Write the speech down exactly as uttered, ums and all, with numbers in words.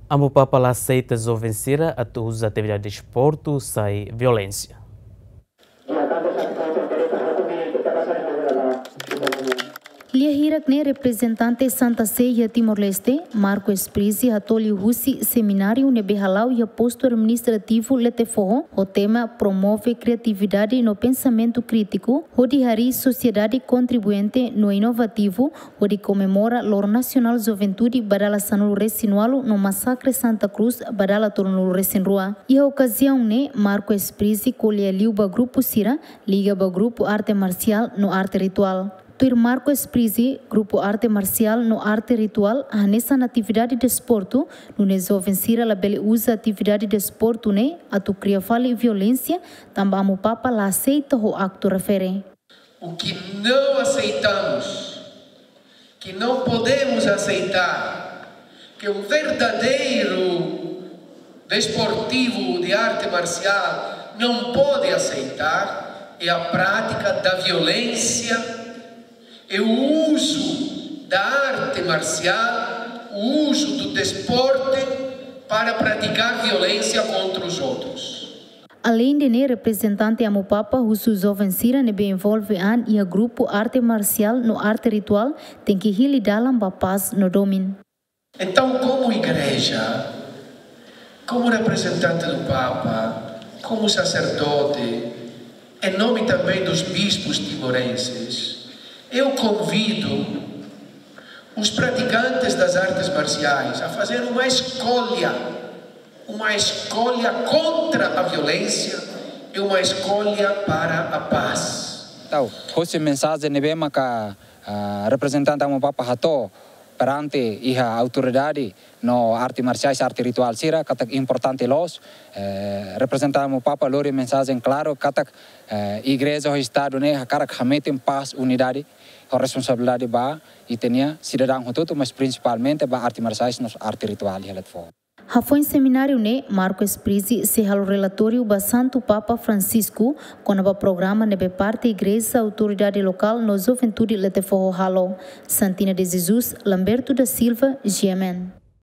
Amu Papa la aseita joven sira atu uza atividade desportu sai violénsia. Lia hirak ne'e reprezentante Santa Sé iha Timor-Leste, Marco Esprizi, hato'o liuhusi semináriu ne'ebé hala'o iha postu administrativu Letefoho, ho tema promove kriatividade no pensamentu krítiku, hodi harii sosiedade kontribuente no inovativu, hodi komemora Loron Nasionál Juventude ba dala sanulu-resin-ualu no masakre Santa Cruz ba dala tolunulu-resin-rua. Iha okaziaun ne'e, Marco Esprizi ko'alia liu ba grupu sira liga ba grupu arte marsiál no arte rituál. Tuir Marco Esprizi, grupu arte marsiál no arte rituál hanesan atividade desportu, nune'e joven sira labele uza atividade desportu ne'e atu kria fali violénsia, tanba Amu Papa la aseita ho aktu refere. O que não aceitamos, que não podemos aceitar, que um verdadeiro desportivo de arte marcial não pode aceitar, é a prática da violência, é o uso da arte marcial, o uso do desporto para praticar violência contra os outros. Aleinde ne'e, reprezentante Amu Papa husu joven sira ne'ebé envolve an iha grupu arte marsiál no arte rituál tenke hili dalan ba pás no domin. Então, como igreja, como representante do Papa, como sacerdote, em nome também dos bispos timorenses, eu convido os praticantes das artes marciais a fazer uma escolha, uma escolha contra a violência e uma escolha para a paz. Entaun, hosi mensajen ne'ebé maka, ah, reprezentante Amu Papa hato'o perante iha autoridade no arte marsiais, arte rituál sira, katak importante loos, eh, reprezentante Amu Papa lori mensajen klaru katak, eh, igreja ho estadu ne'e hakarak hametin pás, unidade ho responsabilidade ba ita-nia sidadaun hotu-hotu, mas prinsipalmente ba arte marsiais no arte rituál iha Letefoho. Hafoin semináriu ne'e, Marco Esprizi sei halo relatóriu ba Santu Papa Francisco kona-ba programa ne'ebé parte igreja, autoridade lokál no juventude Letefoho halo. Santina de Jesus, Lamberto da Silva, G M N.